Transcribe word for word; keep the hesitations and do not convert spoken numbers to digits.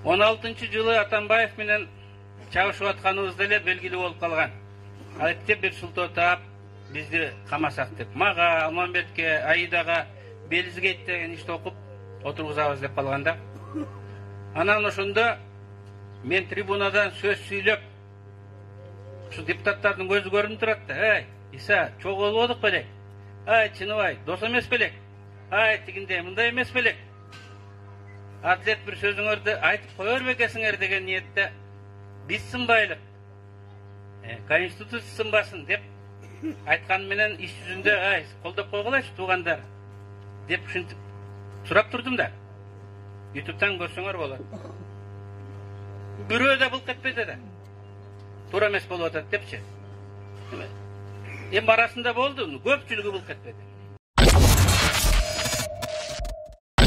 он алтынчы жылы Атамбаев менен чабышып атканыбызда эле белгилүү болуп калган. Айтты бир шултоо таап бизди камасак деп. Мага, Алмамбетке, Аидага Белизгейт деген ишти окуп отургузабыз деп калганда. Анан ошондо мен трибунадан сөз сүйлөп, ушу депутаттардын көзү көрүнүп турат да. Эй, Иса, чогуу болбодук белек? Ай, Чыныбай, дос эмес белек? Ай, тигиндей, мындай эмес белек? Адилет бир сөзүңөрдү айтып кое бербекесиңер деген ниетте биз сынбайлык, Конституция сынбасын деп айткан менен иш жүзүндө ай колдоп койгулачы туугандар деп ушинтип сурап турдум да. ютубтан көрсөңөр болот. Бирөө да былк этпеди да. Туура эмес болуп атат депчи. Эми арасында болду, көпчүлүгү былк этпеди.